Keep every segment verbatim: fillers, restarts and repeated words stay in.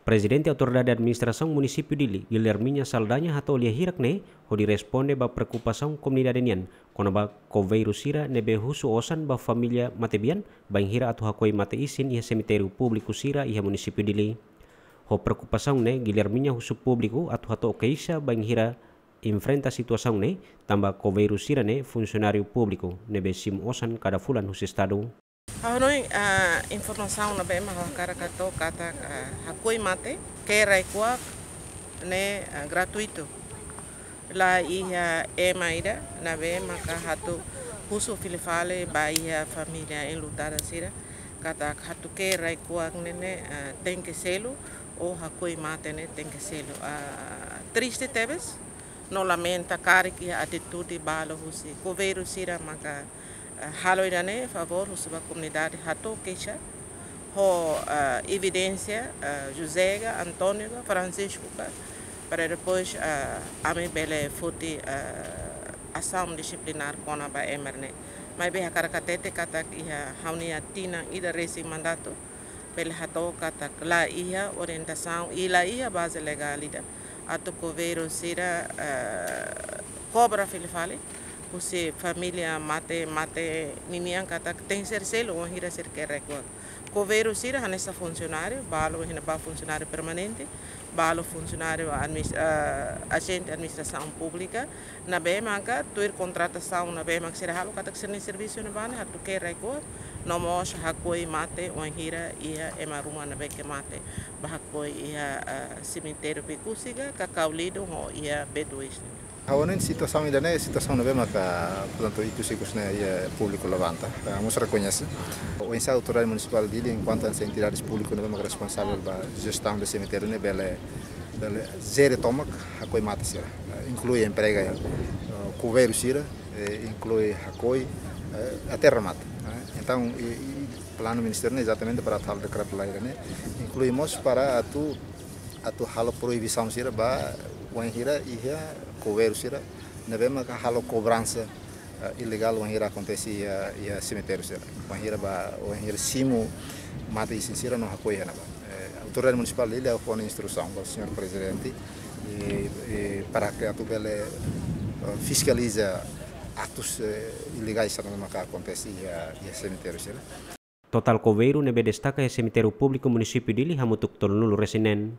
Prezidente Autoridade Administrasaun Munisípiu Dili, Guilherminha Saldanha, hato'o lia hirak ne'e hodi responde ba preokupasaun komunidade nian kona-ba koveiru sira ne'ebé husu osan ba família matebian bainhira atu hakoi mate isin iha semitériu públiku sira iha Munisípiu Dili. Ho preokupasaun ne'e, Guilherminha husu públiku atu hato'o keixa bainhira enfrenta situasaun ne'e, tanba koveiru sira ne'e funsionáriu públiku ne'ebé simu osan kada fulan husi Estadu. Ha'u hanoin, ah, informasaun ne'ebé mak ha'u hakarak hato'o katak, ah, hakoi mate, ke'e rai-kuak ne'e, ah, gratuitu. La iha ema ida ne'ebé maka atu husu fila fali ba iha família enlutada sira katak atu ke'e rai-kuak ne'e, ne'e, ah, tenke selu, ou hakoi mate ne'e tenke selu. Ah, triste tebes, no lamenta karik iha atitude balu husi koveiru sira maka, eh, halo ida-ne'e, favór husu ba komunidade hato'o keixa ho, eh, evidénsia, eh, José ka, António ka, Francisco ka, para depois, eh, ami bele foti, eh, asaun disiplinár kona-ba ema ne'e. Maibé hakarak hatete katak iha ha'u-nia tinan ida resin mandatu, bele hato'o katak la iha orientasaun i la iha baze legál ida atu koveiru sira, eh, kobra fila fali husi família mate, mate ninian katak tenke selu wainhira sira ke'e rai-kuak. Koveiru sira hanesan funsionáriu, balu iha ne'ebá funsionáriu permanente, balu funsionáriu adminis-, eh, ajente administrasaun públika, ne'ebé maka tuir kontratasaun ne'ebé mak sira halo katak sira-nia servisu ne'ebá ne'e atu ke'e rai-kuak, no mós hakoi mate wainhira iha ema ruma ne'ebé ke mate, bá hakoi iha, eh, semitériu Becusse ka, Cacau Lydon ho iha B dois. Ha'u hanoin situasaun ida-ne'e, situasaun ne'ebé maka, portantu, ikus-ikus ne'e iha públiku levanta. Ah, mós rekoñese. Oinsá Autoridade Munisipál Dili, enkuantu hanesan entidade públika ne'ebé maka responsavel ba jestaun de semitériu ne'e bele, bele jere tomak hakoi mate sira. Ah, inklui emprega, eh, koveiru sira, eh, inklui hakoi, eh, até remata. Eh, entaun, i, i planu ministériu ne'e ezatamente para atu halo dekretu-lei ne'e, inklui mós para atu, atu halo proibisaun sira ba wainhira iha koveiru sira ne'ebé maka halo kobransa, eh, ilegál wainhira akontese iha, iha semitériu sira. Wainhira ba, wainhira simu mate isin sira no hakoi iha ne'ebá. Eh, Autoridade Munisipál Dili fó ona instrusaun ba señór prezidente, i, i para ke atu bele, eh, fiskaliza atus, eh, ilegais sira ne'ebé maka akontese iha, iha semitériu sira. Totál koveiru ne'ebé destaka iha semitériu públiku Munisípiu Dili hamutuk tolunulu resin neen.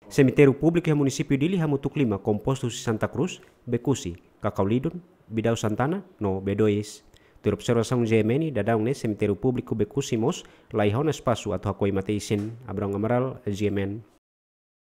Semitériu públiku iha Munisípiu Dili hamutuk lima, kompostu husi Santa Cruz, Becusse, Cacau Lydon, Bidau Santana, no B dois. Tuir observasaun G M N, daudaun ne'e semitériu públiku Becusse mós la iha ona espasu atu hakoi mate isin. Abrão Amaral, G M N.